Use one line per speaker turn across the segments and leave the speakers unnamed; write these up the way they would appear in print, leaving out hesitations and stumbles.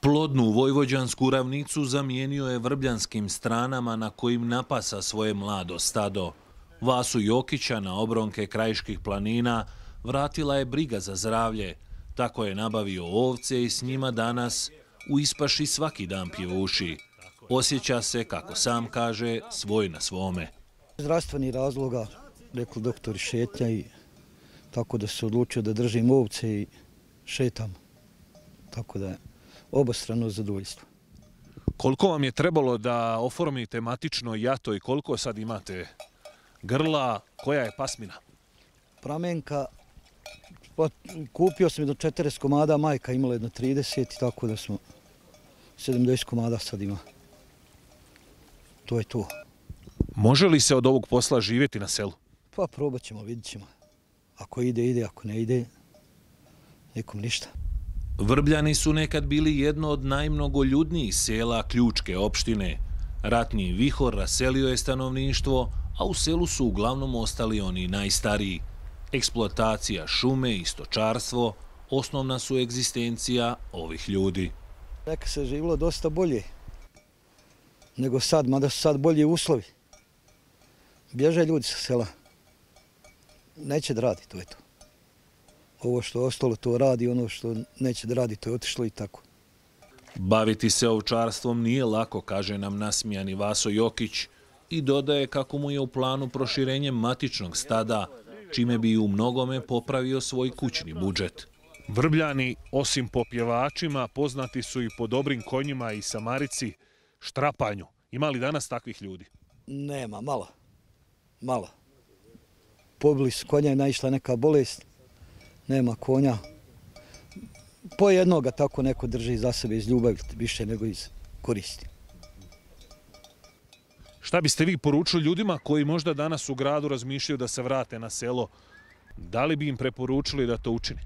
Plodnu vojvođansku ravnicu zamijenio je vrbljanskim stranama na kojim napasa svoje mlado stado. Vasu Jokića na obronke krajiških planina vratila je briga za zdravlje. Tako je nabavio ovce i s njima danas u ispaši svaki dan pjevuši. Osjeća se, kako sam kaže, svoj na svome.
Zdravstveni razloga, rekli doktori, šetnja i tako da se odlučio da držim ovce i šetam. Tako da je obostrano zadovoljstvo.
Koliko vam je trebalo da oformite matično jato i koliko sad imate grla, koja je pasmina?
Pramenka, pa kupio sam jedno 40 komada, majka imala jedno 30 i tako da smo 70 komada sad ima. To je to.
Može li se od ovog posla živjeti na selu?
Pa probat ćemo, vidit ćemo. Ako ide, ide, ako ne ide, nikom ništa.
Vrbljani su nekad bili jedno od najmnogoljudnijih sela Ključke opštine. Ratni vihor raselio je stanovništvo, a u selu su uglavnom ostali oni najstariji. Eksploatacija šume i stočarstvo osnovna su egzistencija ovih ljudi.
Neka se živilo dosta bolje nego sad, mada su sad bolji uslovi. Bježe ljudi sa sela. Neće da radi, to je to. Ovo što je ostalo to radi, ono što neće da radi to je otišlo i tako.
Baviti se ovčarstvom nije lako, kaže nam nasmijani Vaso Jokić i dodaje kako mu je u planu proširenje matičnog stada, čime bi u mnogome popravio svoj kućni budžet.
Vrbljani, osim po pjevačima, poznati su i po dobrim konjima i samarici, štrapanju. Ima li danas takvih ljudi?
Nema, malo. Pobili su konja i naišla neka bolest. Nema konja. Po jednoga tako neko drži za sebe iz ljubavi, više nego iz koristi.
Šta biste vi poručili ljudima koji možda danas u gradu razmišljaju da se vrate na selo? Da li bi im preporučili da to učini?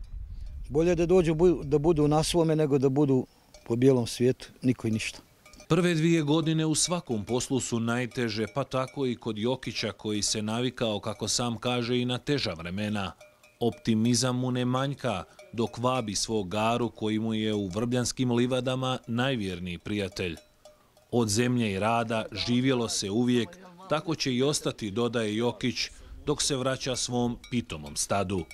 Bolje da dođu da budu na svome nego da budu po bijelom svijetu, niko i ništa.
Prve 2 godine u svakom poslu su najteže, pa tako i kod Jokića koji se navikao, kako sam kaže, i na teža vremena. Optimizam mu ne manjka dok vabi svog garu koji mu je u vrbljanskim livadama najvjerniji prijatelj. Od zemlje i rada živjelo se uvijek, tako će i ostati, dodaje Jokić, dok se vraća svom pitomom stadu.